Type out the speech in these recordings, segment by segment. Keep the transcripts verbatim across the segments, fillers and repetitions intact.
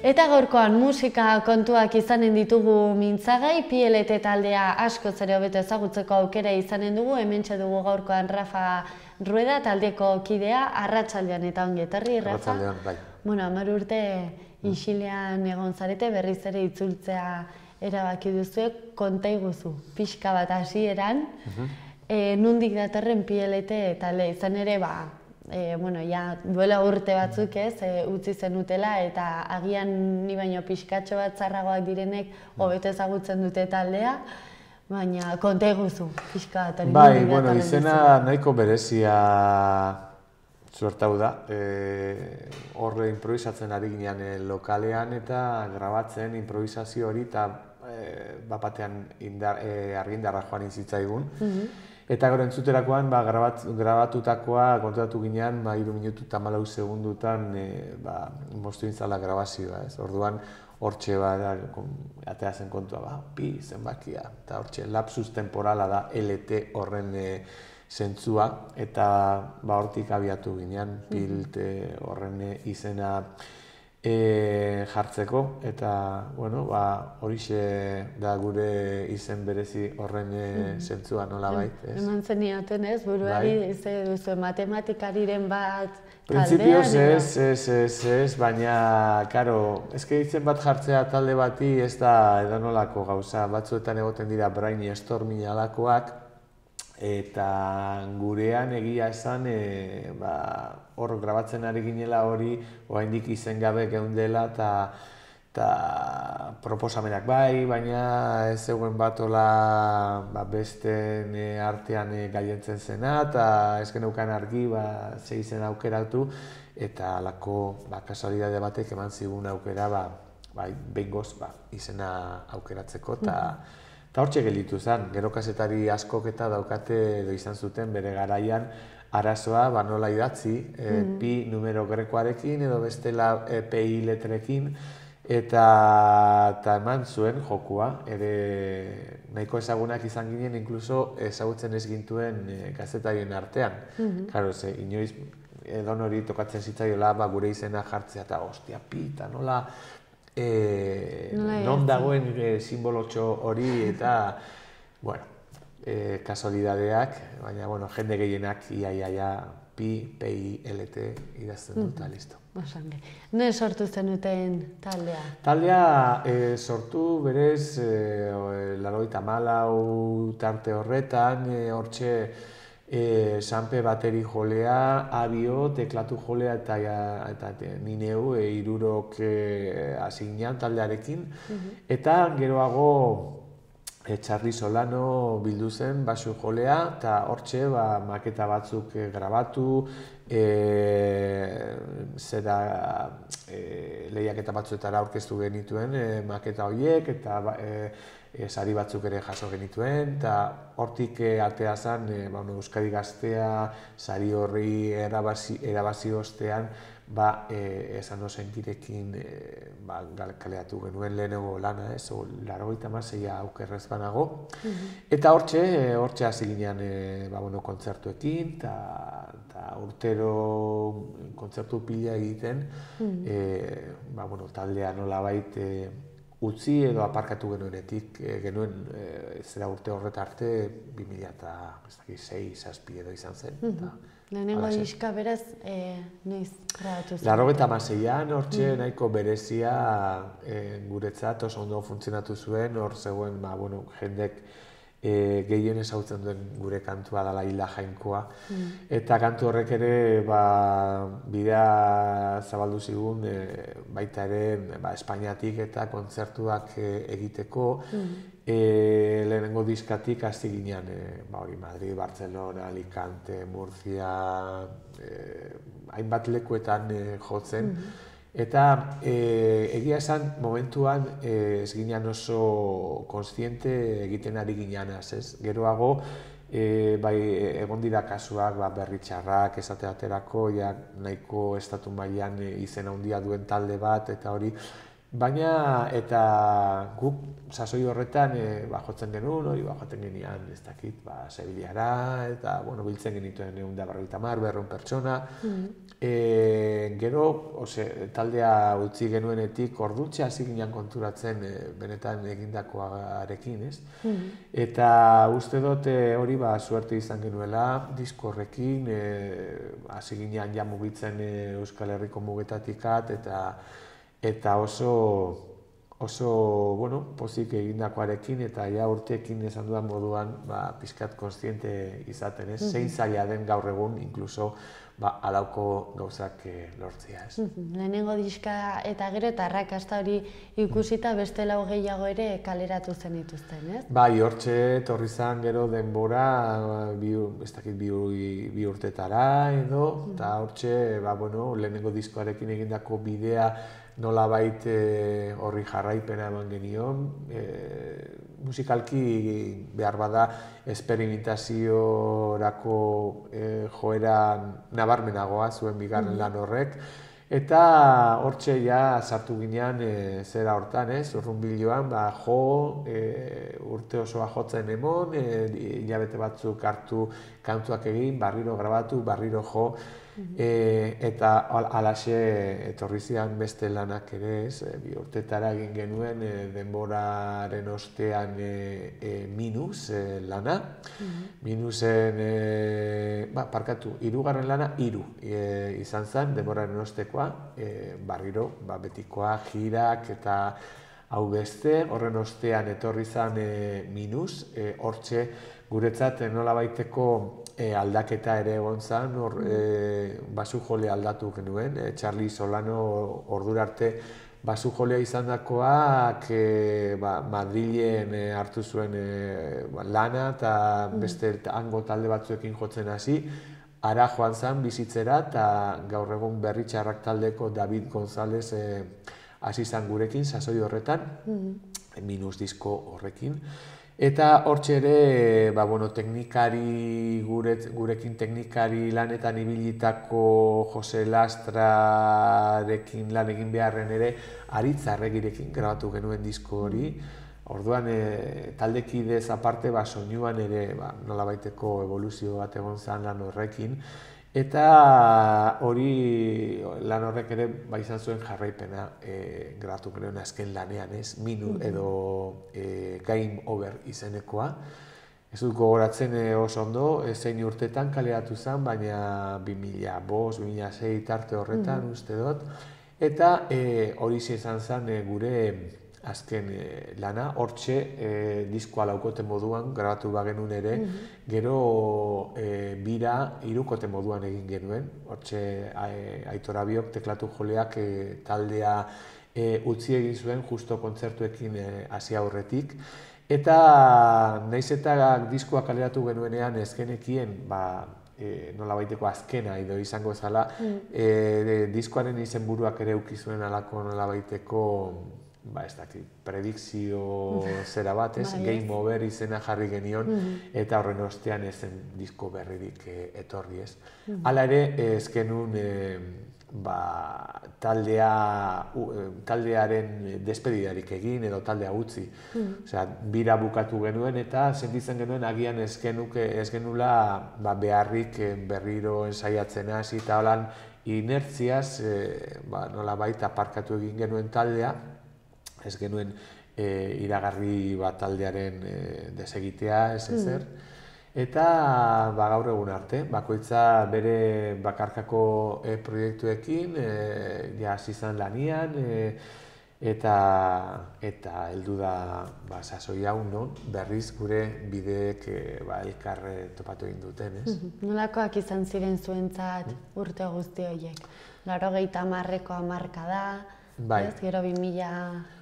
Eta gaurkoan musika kontuak izanen ditugu mintzagai, P L T taldea asko zere hobeto ezagutzeko aukera izanen dugu, hementxe dugu gaurkoan Rafa Rueda taldeko kidea, arratsaldean eta ongi etorri, Rafa. Arratsaldean, bai. Bueno, hamar urte isilean egon zarete, berriz ere itzultzea erabaki duzue, konta iguzu, pixka bat hasieran, nondik datorren P L T taldea izan ere, ba, E, bueno, ja, duela urte batzuk ez, e, utzi zenutela eta agian ni baino pixkatxo bat zarragoak direnek hobeto ezagutzen dute taldea, baina konta eguzu, pixka bat. Bai, bueno, izena nahiko berezia suertau da. Hor e, improvisatzen ari ginean e, lokalean eta grabatzen improvisazio hori eta e, bapatean indar, e, argindarra joan izitzaigun. Mm-hmm. Eta gero entzuterakoan, ba, grabat, grabatutakoa kontatu ginean, ba, hiru minutu eta hamalau segundutan e, ba, moztu intzala grabazioa, ez? Orduan, hortxe ba, atea zen kontua, ba, pi zenbakia, eta hortxe lapsus temporala da L T horren e, zentzua, eta ba, hortik abiatu ginean, pilte horren e, izena e, jartzeko, eta, bueno, ba, horixe da gure izen berezi horren e, zentzua, nola bait, ez? Eman zenioten ez, buruari, ze duzu, matematikariren bat taldean? Printzipioz ez, ez, ez, ez, baina, karo, ezke izen bat jartzea talde bati ez da edanolako gauza, batzuetan egoten dira brainstorming alakoak, eta gurean egia esan, e, ba, hor grabatzen ari ginela hori, oraindik izen gabe geundela, eta proposamenak bai, baina ez zegoen bat hola ba, besten e, artean e, gailentzen zena, eta ez geneukan argi ba, ze izen aukeratu, eta halako ba, kasualidade batek eman zigun aukera ba, bai, behingoz ba, izena aukeratzeko, eta Eta hortxe gelditu zen, gero kazetari askok eta daukate edo izan zuten bere garaian arazoa ba nola idatzi, e, pi numero grekoarekin edo bestela e, pi letrekin, eta, eta eman zuen jokua, ere nahiko ezagunak izan ginen, inkluso ezagutzen ez gintuen e, kazetarien artean. Karo, ze, inoiz edon hori tokatzen zitzaiola ba, gure izena jartzea eta ostia, pi, eta nola... E, non dagoen e, simbolotxo hori eta, bueno, e, kasualidadeak, baina, bueno, jende gehienak iaia pi, pi, L T idazten dut, eta listo. Osange. Ne sortu zenuten taldea? Taldea e, sortu berez, e, laurogeita hamalau tarte horretan, e, hortxe, E, Sanpe bateri jolea, Abio, teklatu jolea eta, eta ni neu e, irurok hasi e, ginean taldearekin. Eta geroago e, Txarli Solano bildu zen basu jolea eta hortxe ba, maketa batzuk e, grabatu, e, zera e, lehiaketa batzuetara aurkeztu genituen e, maketa horiek eta e, E, sari batzuk ere jaso genituen, eta hortik e, atea zen e, ba, Euskadi Gaztea, sari horri erabazi, erabazi ostean, ba, e, esan osentirekin e, ba, kaleatu genuen lehenengo lana, ez, laurogeita hamaseia aukerrez banago. Eta hortxe, e, hortxe hasi ginean e, ba, bueno, kontzertuekin, eta urtero kontzertu pila egiten, e, ba, bueno, taldea nolabait e, utzi edo aparkatu genuenetik, e, genuen e, zera urte horret arte bi mila sei zazpi edo izan zen. Lehenengo diska beraz, e, noiz grabatu zen? Laurogeita hamaseian, hortxe nahiko berezia e, guretzat oso ondo funtzionatu zuen, hor zegoen ba, bueno, jendek e, gehien ezautzen duen gure kantua dela Hila Jainkoa. Eta kantu horrek ere ba, bidea zabaldu zigun e, baita ere ba, Espainiatik eta kontzertuak e, egiteko. E, lehenengo diskatik hasi ginean, e, ba, hori Madrid, Barcelona, Alicante, Murcia, e, hainbat lekuetan e, jotzen. Eta e, egia esan momentuan e, ez ginean oso kontziente egiten ari gineanaz, ez? Geroago e, bai, egon dira kasuak ba, berri txarrak esateaterako, ja, nahiko estatu mailan e, izena handia duen talde bat, eta hori Baina, eta guk sasoi horretan e, ba, jotzen genuen, hori ba, joaten genian, ez dakit, ba, Sevillara, eta, bueno, biltzen genituen egun da berrogeita hamar, berrehun pertsona. Mm. E, gero, ose, taldea utzi genuenetik ordutxe hasi ginen konturatzen e, benetan egindakoarekin, ez? Mm. Eta uste dut hori ba, suerte izan genuela, disko horrekin, e, hasi ginen ja mugitzen e, Euskal Herriko mugetatikat, eta eta oso, oso, bueno, pozik egindakoarekin, eta ja urteekin esan dudan moduan, ba, pixkat kontziente izaten, ez? Mm-hmm. Zein zaila den gaur egun, inkluso, ba, alauko gauzak e, lortzea, ez? Mm-hmm. Lehenengo diska eta gero eta arrakasta hori ikusita beste lau gehiago ere kaleratu zen dituzten, ez? Bai, hortxe torri zan gero denbora, bi, ez dakit, bi, bi urtetara edo, eta mm-hmm. hortxe, ba, bueno, lehenengo diskoarekin egindako bidea nolabait e, horri jarraipena eman genion. E, musikalki behar bada esperimentaziorako e, joera nabarmenagoa zuen bigarren mm-hmm. lan horrek. Eta hortxe ja sartu ginean e, zera hortan, ez? Urrunbiloan, ba, jo, e, urte osoa jotzen emon, e, hilabete batzuk hartu kantuak egin, barriro grabatu, barriro jo, e, eta alaxe etorri zian beste lanak ere, ez? E, bi urtetara egin genuen e, denboraren ostean e, e, minus e, lana. Mm-hmm. Minusen, e, ba, parkatu, hirugarren lana, hiru e, izan zen, denboraren ostekoa, e, barriro, ba, betikoa, jirak eta hau beste, horren ostean etorri zen e, minus, e, hortxe guretzat nola baiteko e, aldaketa ere egon zen, hor e, basu jole aldatu genuen, e, Charlie Solano ordura arte basu jolea izan dakoak e, ba, Madrilen e, hartu zuen e, ba, lana eta beste hango talde batzuekin jotzen hasi, ara joan zen bizitzera eta gaur egun Berritxarrak taldeko David González e, hasi zen gurekin, sasoi horretan, mm-hmm. minus disko horrekin. Eta hortxe ere, ba, bueno, teknikari, guret, gurekin teknikari lanetan ibilitako Jose Lastrarekin lan egin beharren ere, Aritz Arregirekin grabatu genuen disko hori. Orduan, e, taldekidez aparte, ba, soinuan ere ba, nolabaiteko evoluzio bat egon zen lan horrekin. Eta hori lan horrek ere ba, izan zuen jarraipena e, grabatu genuen azken lanean, ez? Minu edo e, Game Over izenekoa. Ez dut gogoratzen e, oso ondo, e, zein urtetan kaleratu zen, baina bi mila bost, bi mila sei tarte horretan mm-hmm. uste dut. Eta e, hori izan zen e, gure azken e, lana, hortxe e, diskoa laukote moduan grabatu bagenuen ere, mm-hmm. gero e, bira hirukote moduan egin genuen, hortxe Aitor Abiok teklatu joleak e, taldea e, utzi egin zuen justo kontzertuekin hasi e, aurretik. Eta nahiz eta diskoa kaleratu genuenean ez genekien, ba, e, nolabaiteko azkena edo izango zala, mm. e, diskoaren izenburuak ere ukizuen alako nolabaiteko ba, ez dakit, predikzio zera bat, ez, Game Over izena jarri genion, mm-hmm. eta horren ostean ezen disko berririk e, etorri, ez. Mm-hmm. Hala ere, ez genuen e, ba, taldea, u, taldearen despedidarik egin edo taldea utzi. Mm-hmm. Osea, bira bukatu genuen eta sentitzen genuen agian ez genuke, ez genula ba, beharrik berriro ensaiatzen hasi eta holan inertziaz e, ba, nolabait aparkatu egin genuen taldea. Ez genuen e, iragarri bat taldearen e, desegitea, ez ezer. Mm. Eta ba, gaur egun arte, bakoitza bere bakarkako e, proiektuekin, e, ja hasi izan lanian, e, eta eta heldu da ba, sasoi hau non, berriz gure bideek e, ba, elkar topatu egin duten, ez? Mm-hmm. Nolakoak izan ziren zuentzat urte guzti horiek? Laurogeita hamarreko hamarka da, bai. Ez, gero bi mila...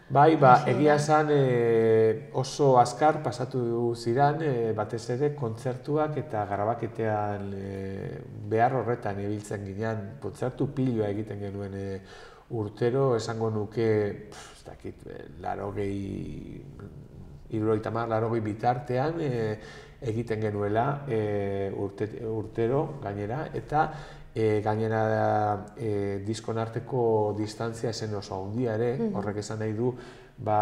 Bai, ba, egia esan e, oso azkar pasatu ziren, e, batez ere kontzertuak eta grabaketean e, behar horretan ibiltzen ginean, kontzertu piloa egiten genuen e, urtero, esango nuke, pff, ez dakit, larogei, hirurogeita hamar, larogei bitartean e, egiten genuela e, urte, urtero gainera, eta e, gainera e, diskon arteko distantzia esen oso handia ere, horrek esan nahi du, ba,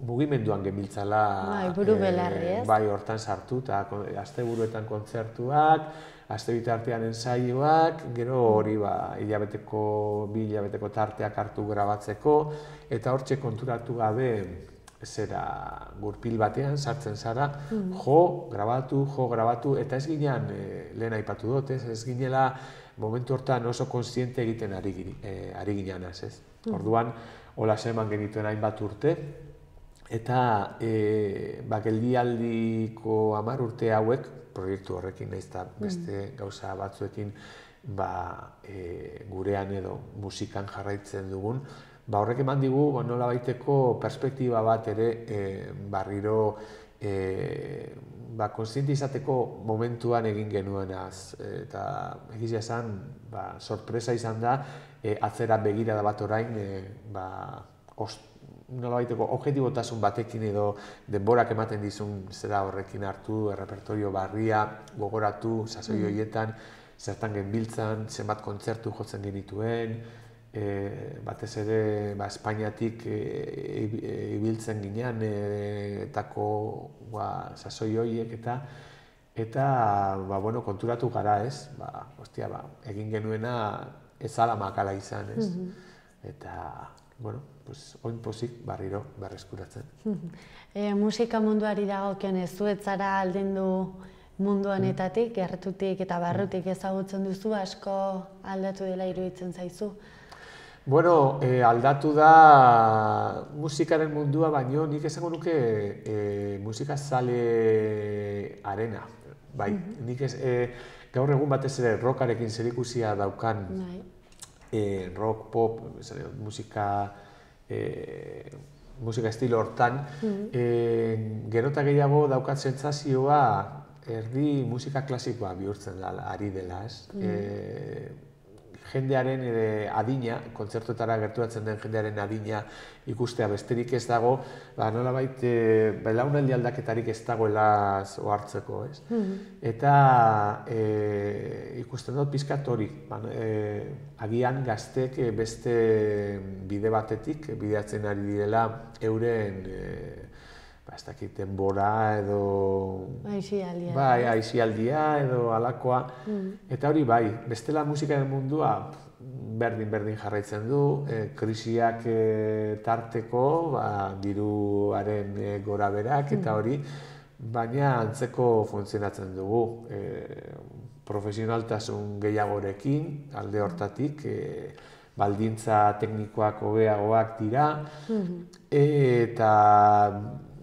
mugimenduan genbiltzala bai, buru belarri, ez? Bai, hortan sartu, eta asteburuetan kontzertuak, aste bitartean ensaioak, gero hori ba, hilabeteko, bi hilabeteko tarteak hartu grabatzeko, eta hortxe konturatu gabe zera gurpil batean sartzen zara, jo, grabatu, jo, grabatu, eta ez ginean, e, lehen aipatu dut, ez, ez ginela momentu hortan oso konsiente egiten ari, e, ari gineanaz, ez? Orduan, hola eman genituen hainbat urte, eta e, ba, geldialdiko hamar urte hauek, proiektu horrekin nahiz eta beste gauza batzuekin ba, e, gurean edo musikan jarraitzen dugun, ba, horrek eman digu ba, nola baiteko perspektiba bat ere e, barriro e, ba, konsiente izateko momentuan egin genuenaz. Eta egizia esan, ba, sorpresa izan da, e, atzera begirada bat orain, e, ba, ost, nola baiteko objetibotasun batekin edo denborak ematen dizun zera horrekin hartu, errepertorio barria, gogoratu, sasoi horietan, zertan genbiltzan, zenbat kontzertu jotzen genituen, e, batez ere ba, Espainiatik e, ibiltzen ginean e, etako ba, sasoi horiek eta eta ba, bueno, konturatu gara ez, ba, ostia, ba, egin genuena ez ala makala izan ez, eta bueno, pues, oin pozik barriro berreskuratzen. E, musika munduari dagokionez, zu ez zara aldendu mundu honetatik, gertutik eta barrutik ezagutzen duzu, asko aldatu dela iruditzen zaizu? Bueno, e, aldatu da musikaren mundua, baino nik esango nuke e, musika zale arena. Bai, nik ez, e, gaur egun batez ere rockarekin zerikusia daukan, E, rock, pop, musika, e, musika estilo hortan, mm-hmm. e, gero eta gehiago daukat sentsazioa erdi musika klasikoa bihurtzen da, ari dela, ez? Mm-hmm. e, jendearen e, adina, kontzertuetara gerturatzen den jendearen adina ikustea besterik ez dago, ba, nolabait e, belaunaldi aldaketarik ez dagoela ohartzeko, ez? Mm-hmm. Eta e, ikusten dut pizkat hori, ba, e, agian gaztek beste bide batetik bideatzen ari direla euren e, ba, ez dakit denbora edo aizialdia, bai, aizialdia edo alakoa. Mm. Eta hori bai, bestela musikaren mundua berdin-berdin jarraitzen du, e, krisiak e, tarteko, ba, diruaren e, gora berak eta hori, baina antzeko funtzionatzen dugu. E, profesionaltasun gehiagorekin, alde hortatik, e, baldintza teknikoak hobeagoak dira, mm-hmm. eta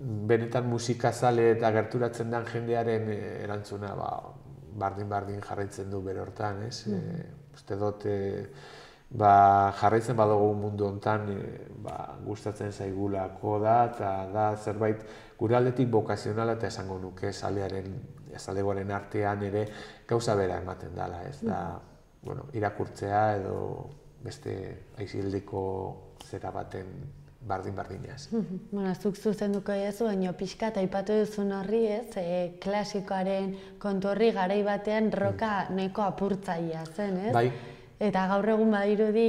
benetan musikazale eta gerturatzen den jendearen erantzuna ba, bardin-bardin jarraitzen du bere hortan, ez? Mm. E, uste dut, e, ba, jarraitzen badugu mundu hontan e, ba, gustatzen zaigulako da, eta da zerbait gure aldetik bokazionala eta esango nuke zalearen, zalegoaren artean ere gauza bera ematen dela, ez? Da, bueno, irakurtzea edo beste aizildiko zera baten bardin-bardinaz. Bueno, zuk zuzenduko diezu, baina pixka eta aipatu duzun horri ez, e, klasikoaren kontu horri garai batean roka neko apurtzailea zen, ez? Bai. Eta gaur egun badirudi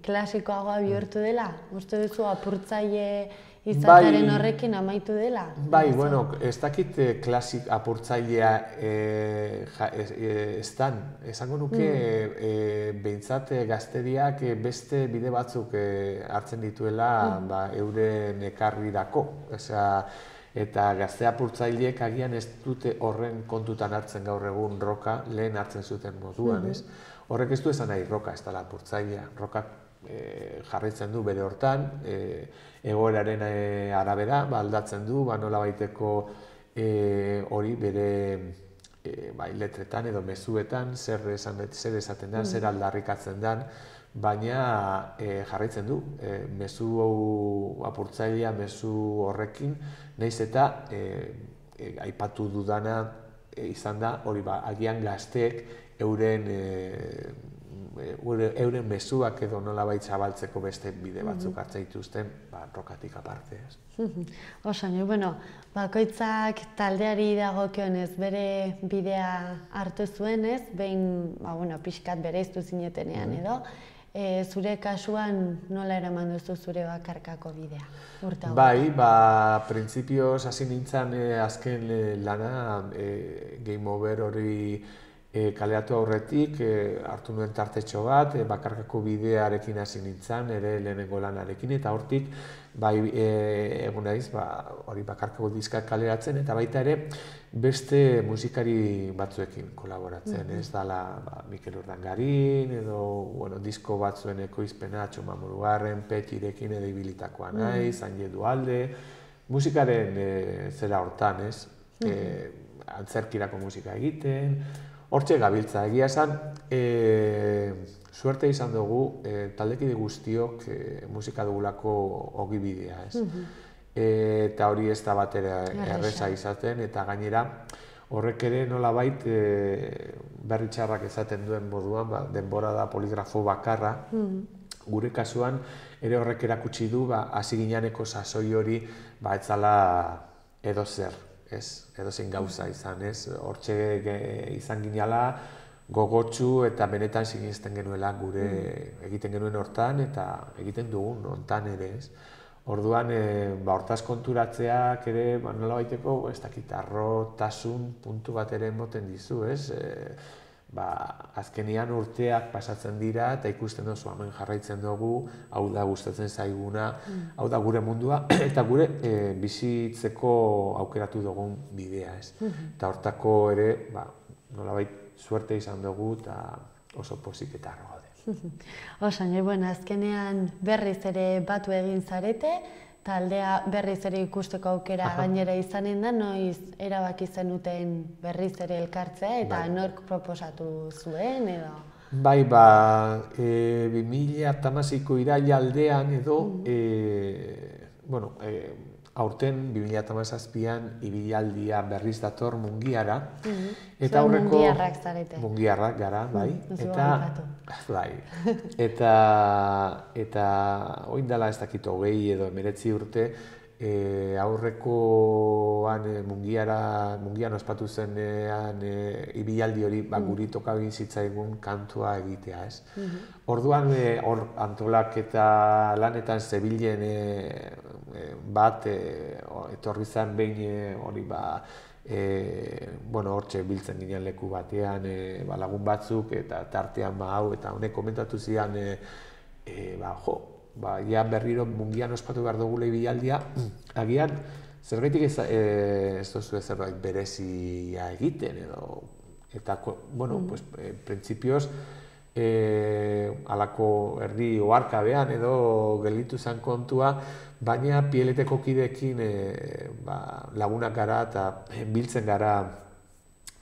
klasikoagoa bihurtu dela? Uste duzu apurtzaile izataren horrekin amaitu dela? Bai, bueno, ez dakit klasik apurtzailea ez dan. Esango nuke behintzat gazteriak beste bide batzuk hartzen dituela euren ekarrirako. Eta gazte apurtzaileek agian ez dute horren kontutan hartzen gaur egun roka lehen hartzen zuten moduan, ez? Horrek ez du esan nahi roka ez dela apurtzailea. Rokak jarraitzen du bere hortan, egoeraren arabera aldatzen du, nola baiteko hori bere letretan edo mezuetan zer esaten den, zer aldarrikatzen den, baina jarraitzen du. Mezu apurtzailea, mezu horrekin, nahiz eta aipatu dudana izan da, hori ba, agian gazteek euren euren mezuak edo nolabait zabaltzeko beste bide batzuk hartzen dituzten, rokatik aparte, ez. Oso, bueno, bakoitzak taldeari dagokionez bere bidea hartu zuenez, behin, bueno, pixkat bereiztu zinetenean edo, zure kasuan nola eraman duzu zure bakarkako bidea? Bai, ba, printzipioz hasi nintzen azken lana Game Over hori kaleratu aurretik, hartu nuen tartetxo bat, bakarkako bidearekin hasi nintzen, ere lehenengo lanarekin, eta hortik, bai, egun naiz, hori bakarkako diskak kaleratzen, eta baita ere, beste musikari batzuekin kolaboratzen, ez dala Mikel Urdangarin, edo disko batzuen ekoizpena, Txoma Murugarren, Petirekin edo ibilitakoa naiz, Anje Dualde, musikaren zera hortan, ez, antzerkirako musika egiten, hortxe gabiltza, egia esan, suerte izan dugu taldekide guztiok musika dugulako ogibidea, ez. Eta hori ez da bat ere erreza izaten, eta gainera horrek ere nolabait berri txarrak esaten duen moduan, denbora da poligrafo bakarra, gure kasuan ere horrek erakutsi du hasi gineneko sasoi hori ez zala edo zer. Ez, edo zein gauza izan, ez, hortxe izan ginala gogotsu eta benetan sinisten genuela gure egiten genuen hortan eta egiten dugun hortan ere, ez. Orduan, hortaz konturatzeak ere, nola baiteko, ez dakit, arrotasun puntu bat ere emoten dizu, ez. Azkenian urteak pasatzen dira eta ikusten duzu hemen jarraitzen dugu, hau da gustatzen zaiguna, hau da gure mundua, eta gure bizitzeko aukeratu dugun bidea, ez. Eta hortako ere, nolabait, suerte izan dugu eta oso pozik eta arro gaude. Oso, bueno, azkenean berriz ere batu egin zarete, taldea berriz ere ikusteko aukera gainera izanen da, noiz erabaki zenuten berriz ere elkartzea eta nork proposatu zuen edo? Bai, ba, bi mila hamaseiko iraila-aldean edo, bueno, aurten bi mila hamazazpian ibilaldia berriz dator Mungiara. Eta aurreko Mungiarrak zarete. Mungiarrak gara, bai. Eta, bai. Eta, eta oin dela ez dakit hogei edo emeretzi urte, aurrekoan Mungiara, Mungian ospatu zenean ibilaldi hori guri tokabin zitzaigun kantua egitea, ez. Orduan, hor antolaketa lanetan zebilen bat, etorri zen behin hori ba, bueno, hortxe biltzen ginen leku batean lagun batzuk eta tartean hau eta honek komentatu zidan, ba, jo, ba, ja berriro Mungian ospatu behar dugula ibilaldia, agian, zergaitik ez duzu zerbait berezia egiten edo, eta, bueno, pues, printzipioz, halako erdi oharkabean edo gelditu zen kontua, baina Pieleteko kideekin lagunak gara eta biltzen gara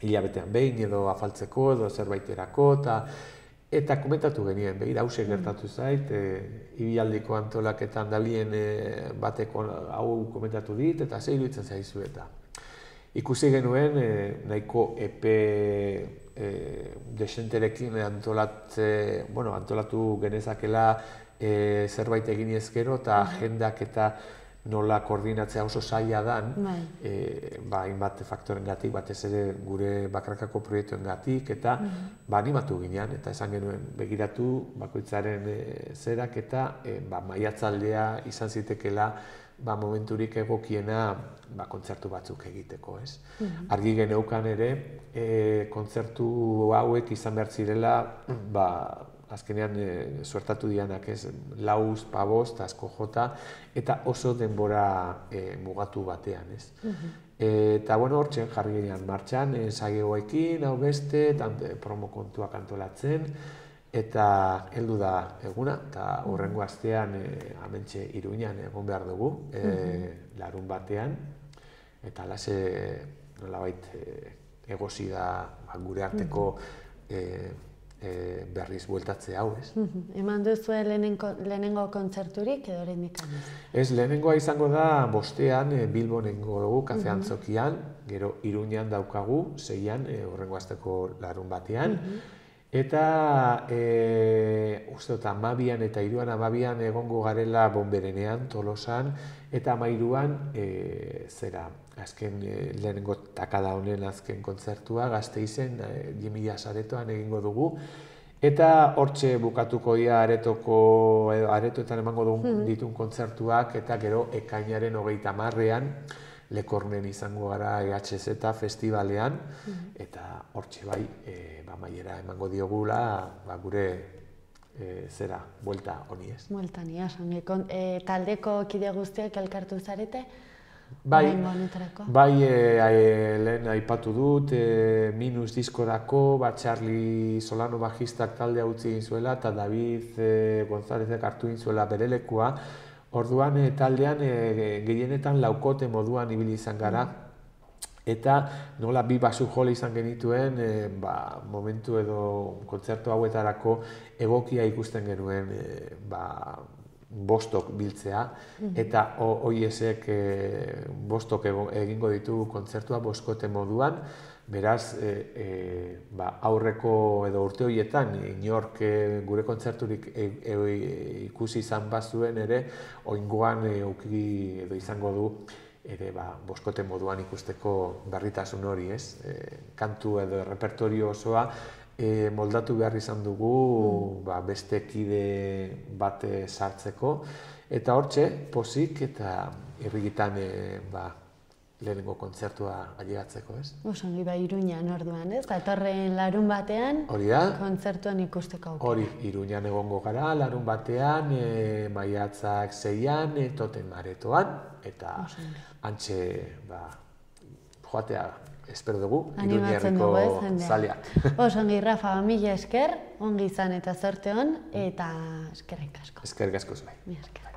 hilabetean behin edo afaltzeko edo zerbaiterako eta komentatu genien, behir hause gertatu zait, ibialdiko antolaketan dabilien bateko hau komentatu dit eta ze iruditzen zaizu eta. Ikusi genuen nahiko epe desenterekin antolatu genezakela zerbait egin ezkero eta agendak eta nola koordinatzea oso zaila dan, hainbat faktorengatik, batez ere gure bakarkako proiektuengatik eta animatu ginean eta esan genuen begiratu bakoitzaren zerak eta maiatzaldea izan zitekela momenturik egokiena kontzertu batzuk egiteko, ez. Argi geneukan ere, kontzertu hauek izan behar zirela, azkenean suertatu dianak ez, lauz, pabost, asko jota, eta oso denbora mugatu batean, ez. Eta, bueno, hortzen jarri ginean martxan, saioekin, hau beste, promo kontuak antolatzen, eta heldu da eguna, eta hurrengo astean hementxe Iruñan egon behar dugu, larun batean, eta alase nolabait egosi da gure arteko berriz bueltatze hau, ez. Eman duzue lehenengo kontzerturik edo oraindik ez? Ez, lehenengoa izango da bostean Bilbon egingo dugu, Kafe Antzokian, gero Iruñan daukagu, seian, hurrengo asteko larun batean, Eta e, uste dut amabian eta hiruan amabian egongo garela Bonberenean, Tolosan, eta amairuan e, zera, azken e, lehenengo takada honen azken kontzertua, Gasteizen, e, Jimila Saretoan egingo dugu. Eta hortxe bukatuko ia aretoko, edo aretoetan emango dugun ditun kontzertuak, eta gero ekainaren hogeita hamarrean, Lekornen izango gara E H Z festivalean, eta hortxe bai, e, ba, maiera emango diogula, ba, gure e, zera, buelta honi ez. Buelta ni, asangi. E, taldeko kide guztiak elkartu zarete? Bai, bai e, e, lehen aipatu dut, e, Minus diskorako, ba, Charlie Solano bajistak taldea utzi egin zuela, eta David e, Gonzálezek hartu egin zuela bere lekua. Orduan e, taldean e, gehienetan laukote moduan ibili izan gara, eta nola bi basu jole izan genituen, e, ba, momentu edo kontzertu hauetarako egokia ikusten genuen e, ba, bostok biltzea, eta oiesek e, bostok egingo ditu kontzertua boskote moduan, beraz, e, e, ba, aurreko edo urte horietan, inork e, gure kontzerturik e, e, ikusi izan bazuen ere, oingoan e, uki edo izango du ere ba, boskote moduan ikusteko berritasun hori, ez? E, kantu edo repertorio osoa e, moldatu behar izan dugu mm. ba, beste kide bate sartzeko, eta hortxe, pozik eta irrigitan e, ba, lehenengo kontzertua ailegatzeko, ez? Osongi, ba, Iruñan orduan, ez? Datorren larun batean, hori da, kontzertuan ikusteko aukera. Hori, Iruñan egongo gara, larun batean, e, maiatzak seian, e, Toten Aretoan, eta hantxe, ba, joatea, espero dugu, Iruñerriko zaleak. Osongi, Rafa, mila esker, ongi izan eta zorte hon, eta eskerrik asko. Eskerrik asko zuen. Mila esker.